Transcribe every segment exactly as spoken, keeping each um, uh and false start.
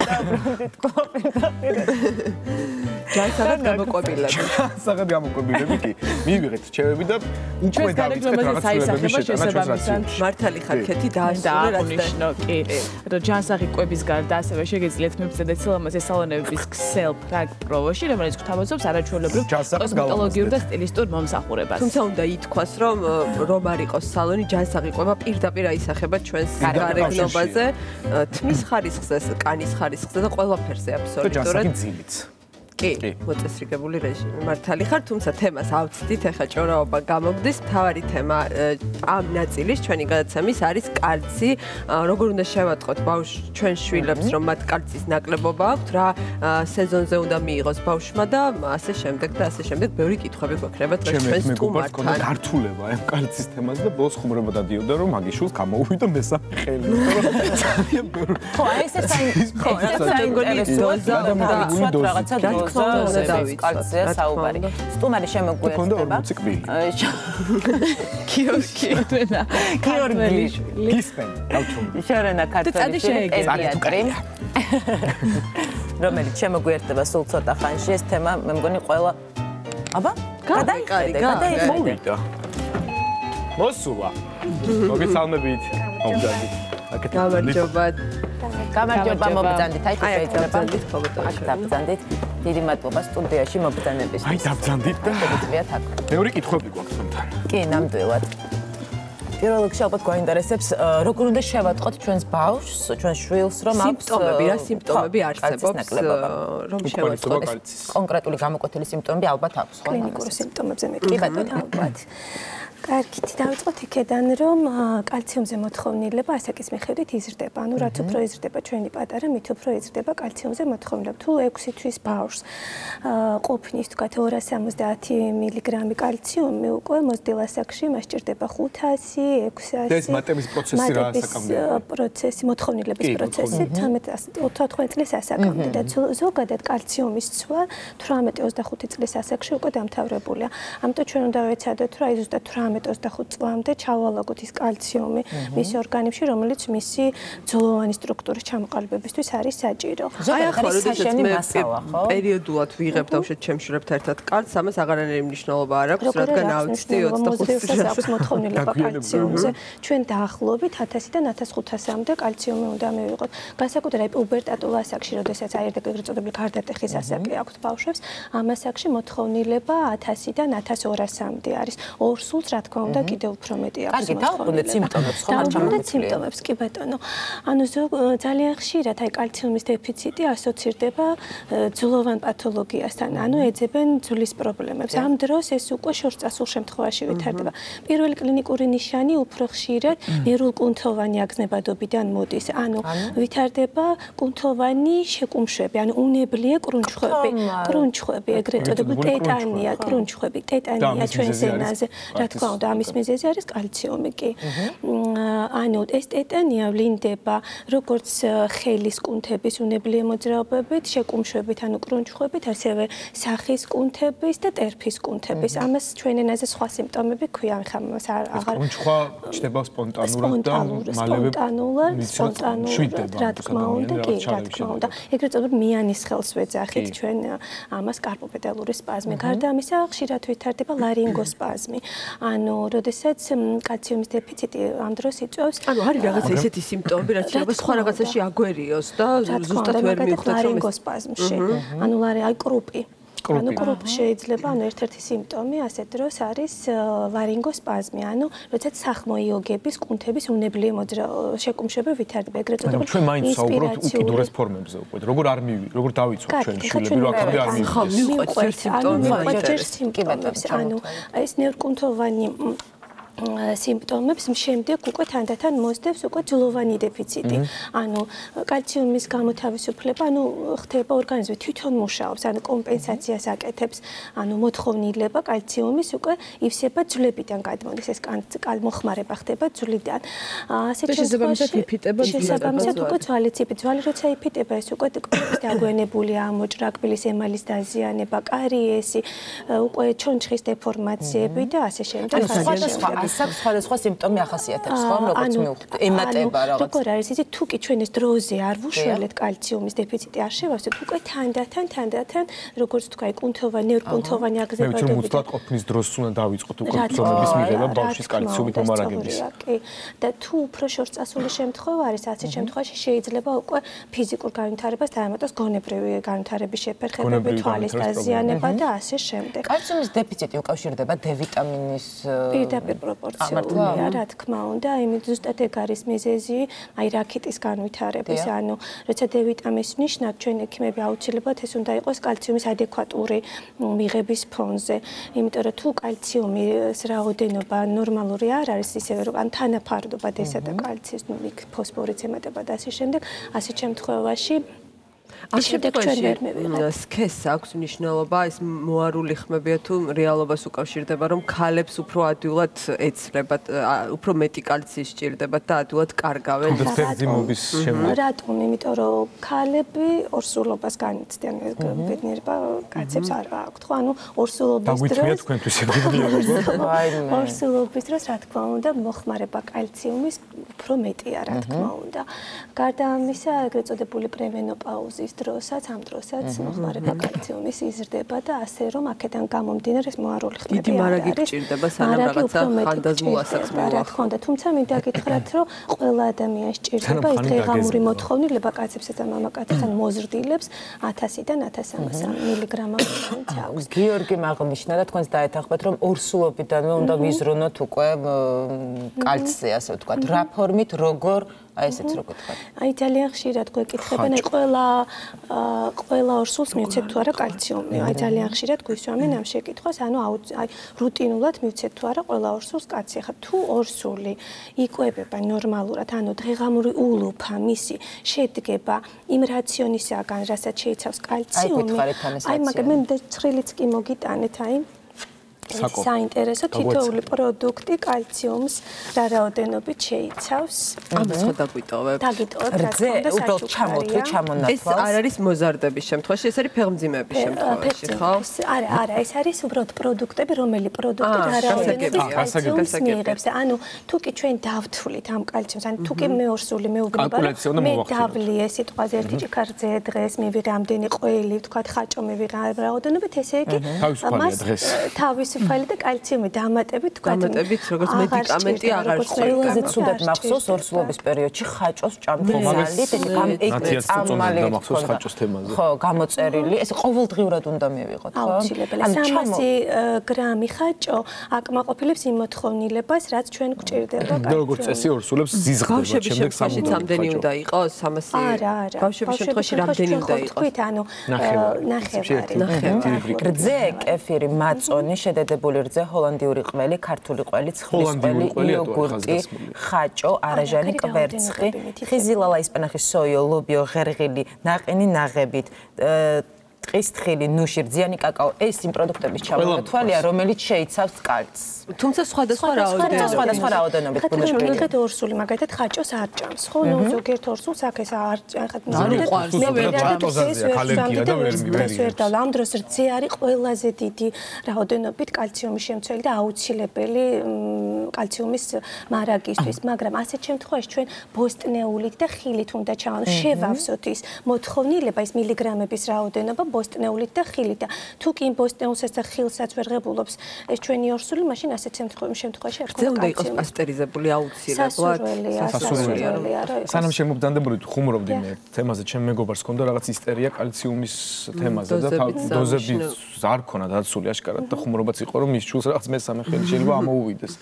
დაბრუნდით ყოფილდაპირე. ჯანსაღად გამოყვებილები. ჯანსაღად გამოყვებილები კი. მივიღეთ რჩევები და უკვე დავიწყეთ რაღაც ცვლილებების შეტანა ჩვენს რაციონში. მართალი ხარ ქეთი დაასრულე რაც დააღვნიშნო კი. რომ ჯანსაღი კვების გარდა ასევე შეგიძლიათ მებრძოლეთ სილამაზე სალონების ქსელ ფრაგ პროვოში, რომელიც გვთავაზობს არაჩვეულებრივ კოსმეტოლოგიურ და სტილისტურ მომსახურებას. თუმცა უნდა ითქვას, რომ რომ არ იყოს სალონი ჯანსაღი კვება პირდაპირ აისახება ჩვენს გარეგნობაზე, თმის ხარისხზე, კანის ხარისხზე და ყველაფერზე აბსოლუტურად. ჯანსაღი ძილიც. კი, მოწესრიგებული რეჟიმი. მართალი ხარ, თუმცა თემას ავწდით, ეხლა ჭორაობა გამოგდის. მთავარი თემა ამ ნაწილის ჩვენი გადაცემის არის კალცი. როგორ უნდა შევატყოთ ბავშვ ჩვენ შვილებს, რომ მათ კალცის ნაკლებობა აქვთ, რა სეზონზე უნდა მიიღოს ბავშვმა და ასე შემდეგ და ასე შემდეგ. ბევრი კითხვები გვექნება დღეს ჩვენს სტუმართან. ჩემს გართულება ამ კალცის თემაზე და ბოლოს ხუმრობა დადიოდა, რომ მაგის შულს გამოუვიდა მესამე ხელი. ხო, აი ეს საინტერესო. ხო, საინტერესოა და რაღაცა კალცია საუბარი. სტუმარი შემოგვიერთდება. კიოსკი. გიორგი. გისმენ. შორენა ქართველი პედიატრი. რომელიც შემოგვიერთდება სულ ცოტა ხანში. ეს თემა მე მგონი ყველა აბა? გადაიხედე, გადაიხედე. მოსულა. მოგესალმებით. მომძანდით. გამარჯობა. გამარჯობა მობრძანდით. აი შეიძლება ბრძანდით ხობოტაში. დაბრძანდით. დიდი მადლობა სტუდიაში მობრძანებისთვის. აი დაბრძანდით და მოგიწვიათ აქ. მეორე კითხვები გვაქვს თუნთან. კი, ნამდვილად. პირველ რიგში ალბათ გვაინტერესებს, როგორ უნდა შევატყოთ ჩვენს ბავშვს, ჩვენს შვილს, რომ აქვს სიმპტომები, რა სიმპტომები არსებობს, რომ შევატყოთ. კონკრეტული გამოკვეთილი სიმპტომები ალბათ აქვს, ხო? კლინიკური სიმპტომებზე მეკითხებით ალბათ. კარგით, დავიწყოთ იქედან, რომ კალციუმზე მოთხოვნილება ასაკის მიხედვით იზრდება. ანუ რაც უფრო იზრდება ჩვენი პატარა, მით უფრო იზრდება კალციუმზე მოთხოვნილება. თუ ექვსი თვის ბავშვს ყოფნის თქვათ ორას სამოცდაათი მილიგრამი კალციუმი უკვე მოზრდილ ასაკში მას სჭირდება ხუთასი, ექვსასი. ეს მატების პროცესი რა ასაკამდე? პროცესი, მოთხოვნილების პროცესი თოთხმეტ წლის ასაკამდე და ზოგადად კალციუმის ცვლა თვრამეტი ოცდახუთი წლის ასაკში უკვე დამთავრებულია. ამიტომ ჩვენ უნდა ვეცადოთ, რომ აი ზუსტად თვრამეტი ოცდახუთი წლამდე ჩავალაგოთ ის კალციუმი მის ორგანიზმში, რომელიც მისი ძვლოვანი სტრუქტურის ჩამოყალიბებისთვის არის საჭირო. აი ახლა როდესაც მე პერიოდულად ვიღებ დავშეთ ჩემშვილებთან ერთად კალცს, ამას აღარანაირი მნიშვნელობა არ აქვს, რადგან ავწდი ოცდახუთი წლის აქვს მოთხოვნილება კალციუმზე. ჩვენ დაახლოებით ათასიდან ათას ხუთასამდე კალციუმი უნდა მივიღოთ. განსაკუთრებით პუბერტატულ ასაკში, როდესაც აირდა ეგრეთ წოდებული გარდატეხის ასაკი აქვს ბავშვებს, ამ ასაკში მოთხოვნილება ათასიდან ათას ორასამდე არის. ორ სულს რა თქმა უნდა კიდევ უფრო მეტი აქვს. კარგი, დავუბრუნდეთ სიმპტომებს, ხო? დავუბრუნდეთ სიმპტომებს, კი ბატონო. ანუ ძალიან ხშირად აი კალციუმის დეფიციტი ასოცირდება ძვლოვან პათოლოგიასთან, ანუ ეძებენ ძვლის პრობლემებს. ამ დროს ეს უკვე შორწასულ შემთხვევაში ვითარდება. პირველი კლინიკური ნიშანი უფრო ხშირად ნერულკუნთოვანი აგზნებადობიდან მოდის. ანუ ვითარდება კუნთოვანი შეკუმშვები, ანუ უნებლიე კრუნჩხვები. კრუნჩხვები, ეგრეთ წოდებული ტეტანია, კრუნჩხვები, ტეტანია ჩვენს ენაზე. რა თქმა უნდა, ამის მიზეზი არის კალციუმი კი. ანუ ეს ტეტანია ვლინდება როგორც ხელის კუნთების უნებლიე მოძრაობებით, შეკუმშვებით, ანუ კრუნჩხვებით, ასევე სახის კუნთების და ტერფის კუნთების. ამას ჩვენ ენაზე სხვა სიმპტომები ქვია, ხა მას აღარ კრუნჩხვა ჩდება სპონტანურად და მალევე სპონტანურად, რა თქმა უნდა, კი, რა თქმა უნდა. ეგრეთ წოდებული მიანის ხელს ვეძახით ჩვენ ამას კარპოპედალური სპაზმი. გარდა ამისა, ხშირად ვითარდება ლარინგოსპაზმი. ანუ, როდესაც კალციუმის დეფიციტი ამ დროს იწვევს, ანუ არის რაღაცა ისეთი სიმპტომები, რაც შეიძლება სხვა რაღაცაში აგვერიოს და ზუსტად ვერ მივხვდეთ რომ ლარინგოსპაზმში. ანუ ლარი აი კრუპი. ანუ კრუპი შეიძლება, ანუ ერთ-ერთი სიმპტომი ასეთ დროს არის ლარინგოსპაზმი, ანუ როდესაც სახმოიოგების კუნთების უნებლიე შეკუმშვები ვითარდება. ეგრეთ წოდებული ჩვენ მაინც საუბრობთ უკიდურეს ფორმებზე უკვე. როგორ არ მივი, როგორ დავიცვათ ჩვენ შვილები, რომ აქამდე არ მივიდეს. ხო, მივყვეთ სიმპტომებს. ანუ ეს ნევრკუნთოვანი სიმპტომებს შემდეგ უკვე თანდათან მოსდევს უკვე ძვლოვანი დეფიციტი. ანუ კალციუმის გამოთავისუფლება, ანუ ხდება ორგანიზმი თვითონ მუშაობს, ანუ კომპენსაციას აკეთებს, ანუ მოთხოვნილება კალციუმის უკვე ივსება ძვლებიდან გადმოდის, ეს კალმოხმარება ხდება ძვლიდან. ასეთ შემთხვევაში იფიტება შესაბამისად უკვე ძვალიც იფიტება. ძვალი როცა იფიტება, ეს უკვე დაგვენებულია ამოჭრა, კბილის ემალის დაზიანება, კარიესი, უკვე ჩონჩხის დეფორმაციები და ასე შემდეგ. სხვადასხვა მას აქვს სხვადასხვა სიმპტომი ახასიათებს, ხო, როგორც მივხვდი, ემატება რაღაც. როგორ არის იცი, თუ კი ჩვენ ეს დროზე არ ვუშველეთ კალციუმის დეფიციტი არ შევავსეთ, უკვე თანდათან თანდათან როგორც თქვა, კუნთოვანი, ნევრკუნთოვანი აგზებადობები. მე ვთქვი, მოცდათ ყოფნის დროს უნდა დავიწყოთ უკვე ბრძოლების მიღება ბავშვის კალციუმით მომარაგების. და თუ უფრო შორწასული შემთხვევა არის, ასეთ შემთხვევაში შეიძლება უკვე ფიზიკურ განვითარებას დაემატოს გონებრივი განვითარების შეფერხებები, თვალის დაზიანება და ასე შემდეგ. კალციუმის დეფიციტი უკავშირდება დ ვიტამინის პირდაპირ პროპორციულია, რა თქმა უნდა, იმით ზუსტად ეგ არის მიზეზი, აი რაქიტის განვითარების, ანუ როცა დ ვიტამინის ნიშნად ჩვენ ექიმები აუცილებლად ეს უნდა იყოს კალციუმის ადეკვატური მიღების ფონზე, იმიტომ რომ თუ კალციუმის რაოდენობა ნორმალური არ არის, ისევე რომ ან თანაფარდობა д-სა და კალციის, ну, იქ ფოსფორიც ემატება და ასე შემდეგ, ასეთ შემთხვევაში ამ შემთხვევაში სქესს აქვს მნიშვნელობა, ეს მოარული ხმებია თუ რეალობას უკავშირდება, რომ ქალებს უფრო ადვილად ეცლებათ, უფრო მეტი კალციის სჭირდებათ და ადვილად კარგავენ. ფერდიმობის შემდგომ. რატომ? იმიტომ რომ ქალები ორსულობას განიცდიან, ბედნიერება კაცებს არ აქვთ, ხო? ანუ ორსულობის დროს დაგვიწვია თქვენთვის ბედნიერება. ორსულობის დროს, რა თქმა უნდა, მოხმარება კალციუმის უფრო მეტია, რა თქმა უნდა. გარდა ამისა, ეგრეთ წოდებული პრემენოპაუზის დროსაც, ამ დროსაც მოხმარება კალციუმის იზრდება და ასე რომ აქედან გამომდინარე ეს მოარული ხმები დიდი მარაგი გჭირდება, სანამ რაღაცა ხანდაზმულასაც მოახდინოს. რა თქმა უნდა, თუმცა მინდა გითხრათ, რომ ყველა ადამიანს სჭირდება ეს დღეღამური მოთხოვნილება კაცებსა და მამაკაცებთან მოზრდილებს ათასიდან ათას სამასი მილიგრამამდე აქვს. გიორგი აღნიშნა და თქვენს დაეთანხმეთ, რომ ორსულობიდანვე უნდა ვიზრუნოთ უკვე კალციზე, ასე ვთქვათ, რა ფორმით, როგორ აი ესეც როგორ თქვა. აი ძალიან ხშირად გვეკითხებენ, აი ყველა ყველა ორსულს მივცეთ თუ არა კალციუმი. აი ძალიან ხშირად გვისვამენ ამ შეკითხვას, ანუ აი რუტინულად მივცეთ თუ არა ყველა ორსულს კაცი. ხა თუ ორსული იკვებება ნორმალურად, ანუ დღეღამური ულუფა მისი შედგება იმ რაციონისაგან, რასაც შეიცავს კალციუმი. აი მაგრამ მე ცხრილიც კი მოგიტანეთ, აი საინტერესო თითოეული პროდუქტი კალციუმს რა რაოდენობით შეიცავს. ამას ხო დაგვიტოვებ. დაგიტოვებ, რა თქმა უნდა, უბრალოდ ჩამოთვლი, ჩამონათვალს. ეს არ არის მოზარდების შემთხვევაში, ეს არის ფეხმძიმების შემთხვევაში, ხო? არა, არა, ეს არის უბრალოდ პროდუქტები, რომელი პროდუქტი რა რაოდენობით კალციუმს მიიღებს. ანუ თუ კი ჩვენ დავთვლით ამ კალციუმს, ანუ თუ კი მე ორსული მეუბნება, მე დავლიე სიტყვაზე ერთი ჭიქარზე დღეს მივიღე ამდენი ყველი, ვთქვათ, ხაჭო მივიღე რაოდენობით, ესე იგი მას თავის ფაილი და კალციუმი დამატებით თქვა დამატებით როგორც მედიკამენტი აღარ ყველაზე ცუდად მახსოვს ორსულობის პერიოდში ხაჭოს ჭამთმალი და წამალი ხო გამოწერილი ეს ყოველდღიურად უნდა მივიღოთ ხო აუცილებელი სამასი გრამი ხაჭო აკმაყოფილებს იმ მოთხოვნილებას რაც ჩვენ გვჭირდება კალციუმი როგორც წესი ორსულებს ზიზღდება შემდეგ სამუდამოდ ამდენი უნდა იყოს სამასი არა არა ბავშვების შემთხვევაში რამდენი უნდა იყოს თქვით ანუ ნახევარი ნახევარი რძე კეფირი მაწონი შედედებული რძე ჰოლანდიური ყველი ქართული ყველი ცხლის ყველი იოგურტი ხაჭო არაჟანი კვერცხი ხიზილალა ისპანახის სოიო ლობიო ღერღილი ნაყინი ნაღებით ტყის თხილი ნუში რძიანი კაკაო ეს იმ პროდუქტების ჩამონათვალია რომელიც შეიცავს კალცს თუმცა სხვადასხვა რაოდენობით სხვადასხვა რაოდენობით გუნდებით ორსული მაგალითად ხაჭოს არ ჭამს ხო ნუ ზოგიერთ ორსულს აქ ეს არ ახლა მე ვერ ამ დროს რძე არის ყველაზე დიდი რაოდენობით კალციუმის შემცველი და აუცილებელი კალციუმის მარაგისთვის მაგრამ ასეთ შემთხვევაში ჩვენ ბოსტნეულით და ხილით უნდა ჩავანო შევავსოთ ის მოთხოვნილება ის მილიგრამების რაოდენობა ბოსტნეულით და ხილით და თუ კი ბოსტნეულსაც და ხილსაც ვერ ღებულობს ეს ჩვენი ორსული მაშინ ასეთ შემთხვევაში არ ხდება უნდა იყოს პასტერიზებული აუცილებლად სასურველია სანამ შემობდანდებოდი ხუმრობდი მე თემაზე ჩემ მეგობარს ჰქონდა რაღაც ისტერია კალციუმის თემაზე და დოზები არ ქონა დაცული აშკარად და ხუმრობაც იყო რომ მის ჩულს რაღაც მესამე ხელი შეიძლება ამოუვიდეს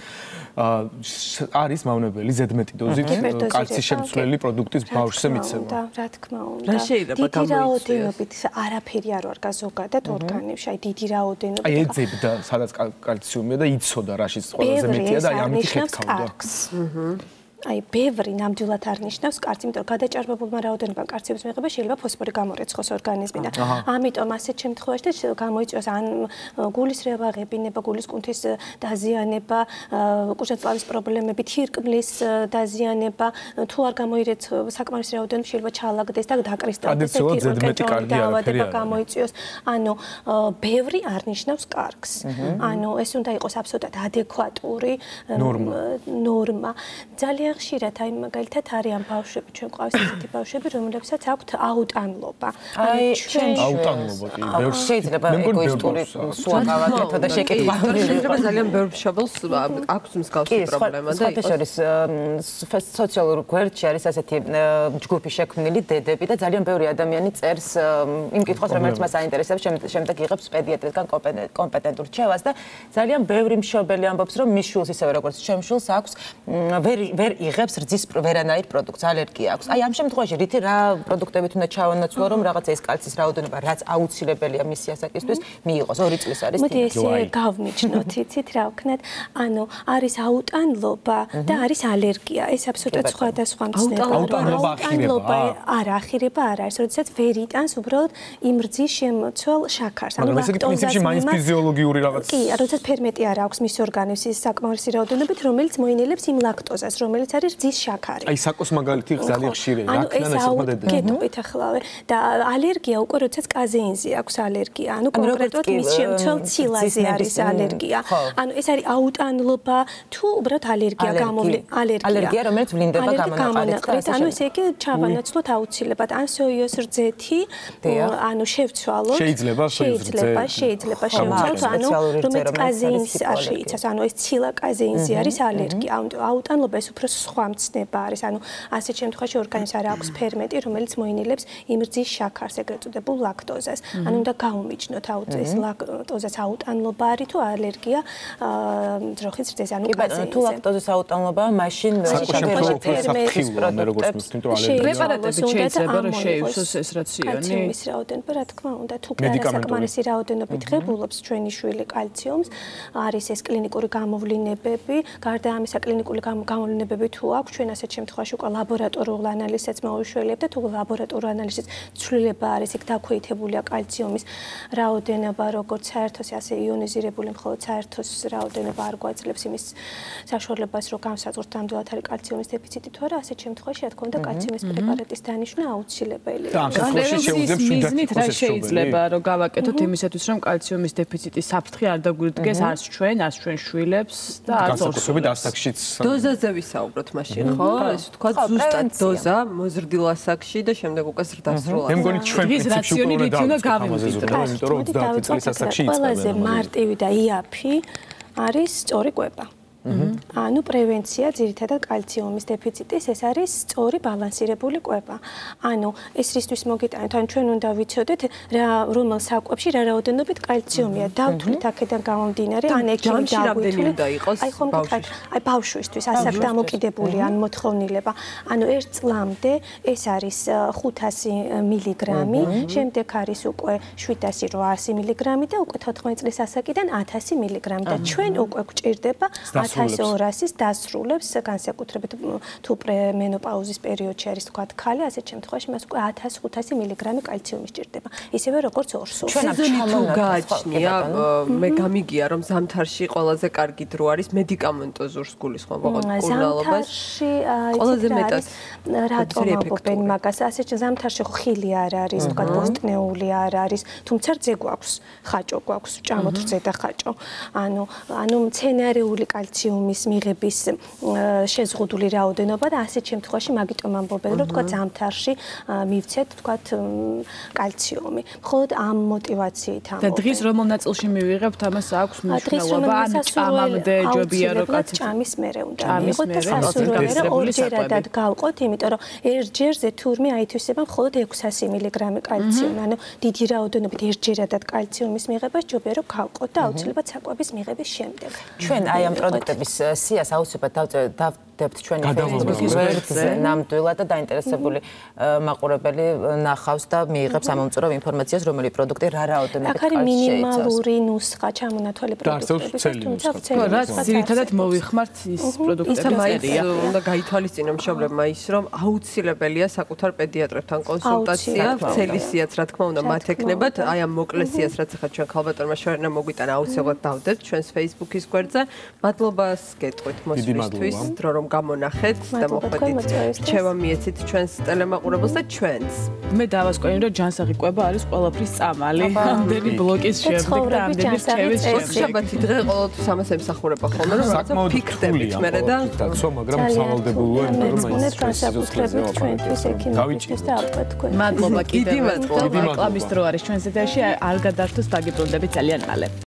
არის მავნებელი ზედმეტი დოზით კალციის შემცვლელი პროდუქტის ბავშვზე მიცემა რა თქმა უნდა რა შეიძლება გამოიწვიოს არაფერი არ ვარ გაზოგადად ორგანებში აი დიდი რაოდენობით აი ეძებდა სადაც კალციუმია და იცოდა რაშიც ყველაზე მეტია და ამით ხეთქავდა აი ბევრი ნამდვილად არ ნიშნავს კარცი, იმიტომ რომ გადაჭარბებულმა რაოდენობამ კარციების მიღება შეიძლება ფოსფორი გამორეცხოს ორგანიზმიდან. ამიტომ ასეთ შემთხვევაში გამოიწვევს ან გულის რევაღებინება, გულის კუნთის დაზიანება, კუჭაწლავის პრობლემები, თირკმლის დაზიანება, თუ არ გამოირეცხება საკმარისი რაოდენობა შეიძლება ჩალაგდეს და დაკრისტალდეს და თირკმლის დაავადება გამოიწვევს. ანუ ბევრი არ ნიშნავს კარგს. ანუ ეს უნდა იყოს აბსოლუტურად ადეკვატური ნორმა. ძალიან ხშირად აი მაგალითად არიან ბავშვები, ჩვენ ყავს ესეთი ბავშვები, რომლებსაც აქვთ აუტანლობა. აი ჩვენ აუტანლობა კი ბევრს შეიძლება ეგოისტური სუაკავა მეთოდა შეკითხვა. შეიძლება ძალიან ბევრ მშობელს აქვს მსგავსი პრობლემა და ის შორის სოციალურ გვერდში არის ასეთი ჯგუფი შექმნილი დედები და ძალიან ბევრი ადამიანი წერს იმ კითხვას, რომელიც მას აინტერესებს, შემდეგ იღებს პედიატრისგან კომპეტენტურ რჩევას და ძალიან ბევრი მშობელი ამბობს, რომ მის შვილს ისევე როგორც ჩემ შვილს აქვს ვერ ვერ იღებს რძის ვერანაირ პროდუქტს, ალერგია აქვს. აი ამ შემთხვევაში რითი რა პროდუქტებით უნდა ჩავანაცვლო, რომ რაღაცა ეს კალციის რაოდენობა, რაც აუცილებელია მისი ასაკისთვის, მიიღოს. ორი წლის არის. მოდი ესე გავმიჩნოთ, იცით რა ვქნათ? ანუ არის აუტანლობა და არის ალერგია. ეს აბსოლუტურად სხვადასხვა მცნებაა. აუტანლობა არ ახირება არ არის, როდესაც ვერ იტანს უბრალოდ იმ რძის შემოცვალ შაქარს. ანუ ლაქტოზას მაინც ფიზიოლოგიური რაღაც. კი, როდესაც ფერმენტი არ აქვს მის ორგანიზმის საკმარისი რაოდენობით, რომელიც მოინელებს იმ ლაქტოზას, რომელიც არის რძის შაქარი. აი საკოს მაგალითი ძალიან ხშირია, რა ქნა ესეთმა დედამ. გეტყვით ახლა და ალერგია უკვე როდესაც კაზეინზე აქვს ალერგია. ანუ კონკრეტულად მის შემცველ ცილაზე არის ალერგია. ანუ ეს არის აუტანლობა თუ უბრალოდ ალერგია გამოვლი ალერგია. ალერგია, რომელიც ვლინდება გამონაყარით. ანუ ესე იგი ჩავანაცვლოთ აუცილებლად ან სოიოს რძეთი, ანუ შევცვალოთ. შეიძლება შეიძლება შეიძლება შევცვალოთ, ანუ რომელიც კაზეინს არ შეიცავს. ანუ ეს ცილა კაზეინზე არის ალერგია. აუტანლობა ეს უფრო სხვა მცნება არის. ანუ ასეთ შემთხვევაში ორგანიზმს არ აქვს ფერმენტი, რომელიც მოინელებს იმ რძის შაქარს, ეგრეთ წოდებულ ლაქტოზას. ანუ უნდა გაუმიჯნოთ ეს ლაქტოზას აუტანლობა არის თუ ალერგია ძროხის რძეს, ანუ კაზეინზე. თუ ლაქტოზის აუტანლობაა, მაშინ საფრთხილოა, მე როგორც მივხვდი, რომ ალერგია. პრეპარატები შეიძლება რომ შეივსოს ეს რაციონი. კალციუმის რაოდენობა, რა თქმა უნდა, თუ საკმარისი რაოდენობით ღებულობს ჩვენი შვილი კალციუმს, არის ეს კლინიკური გამოვლინებები, გარდა ამისა კლინიკური გამოვლინებები თუ აქვს, ჩვენ ასეთ შემთხვევაში უკვე ლაბორატორიულ ანალიზებს მოვიშველებთ და თუ ლაბორატორიულ ანალიზის ცვლილება არის, იქ დაქვეითებულია კალციუმის რაოდენობა, როგორც საერთოს, ასე იონიზირებული, მხოლოდ საერთოს რაოდენობა არ გვაძლევს იმის საშუალებას, რომ განსაზღვროთ ნამდვილად არის კალციუმის დეფიციტი თუ არა, ასეთ შემთხვევაში რა თქმა უნდა კალციუმის პრეპარატის დანიშვნა აუცილებელია. მიზნით რა შეიძლება რომ გავაკეთოთ იმისათვის, რომ კალციუმის დეფიციტის საფრთხე არ დაგვიდგეს არც ჩვენ, არც ჩვენ შვილებს და არც განსაკუთრებით ასაკშიც. დოზაზე ვისაუბროთ მაშინ, ხო? ეს თქვა ზუსტად დოზა მოზრდილ ასაკში და შემდეგ უკვე ზრდასრულ. მე მგონი ჩვენ პრინციპში რაციონი რითი უნდა გავიმკვიდროთ, იმიტომ რომ ოცდაათი წლის ასაკში იწყება. ყველაზე მარტივი და იაფი არის სწორი კვება. ანუ პრევენცია ძირითადად კალციუმის დეფიციტის, ეს არის სწორი ბალანსირებული კვება. ანუ ეს რისთვის მოგიტანეთ, ან ჩვენ უნდა ვიცოდეთ რა რომელ საკვებში რა რაოდენობით კალციუმია დავთვლით აქედან გამომდინარე, ან ექიმი დავთვლით. აი ხომ გითხარით, აი ბავშვისთვის ასაკ დამოკიდებული ან მოთხოვნილება. ანუ ერთ წლამდე ეს არის ხუთასი მილიგრამი, შემდეგ არის უკვე შვიდასი რვაასი მილიგრამი და უკვე თოთხმეტ წლის ასაკიდან ათასი მილიგრამი და ჩვენ უკვე გვჭირდება ათას ორასის დასრულებს განსაკუთრებით თუ პრემენოპაუზის პერიოდში არის თქვა ქალი, ასეთ შემთხვევაში მას უკვე ათას ხუთასი მილიგრამი კალციუმი სჭირდება. ისევე როგორც ორსულ. სეზონი თუ გააჩნია, მე გამიგია რომ ზამთარში ყველაზე კარგი დრო არის მედიკამენტოზურ გულისხმობ ყურნალობას. ყველაზე მეტად რატომ ამბობენ მაგას? ასეთ ზამთარში ხილი არ არის, თქვა ბოსტნეული არ არის, თუმცა რძე გვაქვს, ხაჭო გვაქვს, ჭამოთ რძე და ხაჭო. ანუ ანუ მცენარეული კალციუმი კალციუმის მიღების შეზღუდული რაოდენობა და ასეთ შემთხვევაში მაგიტომ ამბობენ რომ თქვა ზამთარში მივცეთ თქვა კალციუმი. მხოლოდ ამ მოტივაციით ამბობენ. და დღის რომელ ნაწილში მივიღებთ ამას აქვს მნიშვნელობა ან ჭამამდე ჯობია რომ კაცი ჭამის მერე უნდა მიიღოთ და სასურველად ორჯერადად გავყოთ, იმიტომ რომ ერთჯერზე თურმე აითვისება მხოლოდ ექვსასი მილიგრამი კალციუმი. ანუ დიდი რაოდენობით ერთჯერადად კალციუმის მიღებას ჯობია რომ გავყოთ და აუცილებლად საკვების მიღების შემდეგ. ჩვენ აი ამ პროდუქტების სიას აუცილებლად დებთ ჩვენი Facebook-ის გვერდზე ნამდვილად და დაინტერესებული მაყურებელი ნახავს და მიიღებს ამომწურავ ინფორმაციას, რომელი პროდუქტი რა რაოდენობით კარგია. აქ არის მინიმალური ნუსხა ჩამონათვალი პროდუქტების. რაც ძირითადად მოვიხმართ ის პროდუქტები წერია. უნდა გაითვალისწინო მშობლებმა ის, რომ აუცილებელია საკუთარ პედიატრებთან კონსულტაცია, ცელისიაც რა თქმა უნდა მათ ეკნებათ, აი ამ მოკლესიას რაც ახლა ჩვენ ქალბატონმა შორენა მოგვიტანა აუცილებლად დავდეთ ჩვენს Facebook-ის გვერდზე. მადლობას გეტყვით მოსვლისთვის, დრო რომ გამონახეთ და მოხვედით. რჩევა მიეცით ჩვენს ტელემაყურებელს და ჩვენს. მე დავასკვენი რომ ჯანსაღი კვება არის ყველაფრის წამალი. ამდენი ბლოკის შემდეგ და ამდენი რჩევის შემდეგ. შაბათი დღე ყოველთვის ამას ემსახურება ხოლმე რომ რაღაცა ფიქრდებით მე და დაცვა, მაგრამ სავალდებულოა, იმიტომ რომ ეს განსაკუთრებით ჩვენთვის ექიმებისთვის და ალბათ თქვენ. მადლობა კიდევ. დიდი მადლობა. რეკლამის დრო არის ჩვენს ეთერში. არ გადართოს დაგიბრუნდებით ძალიან მალე.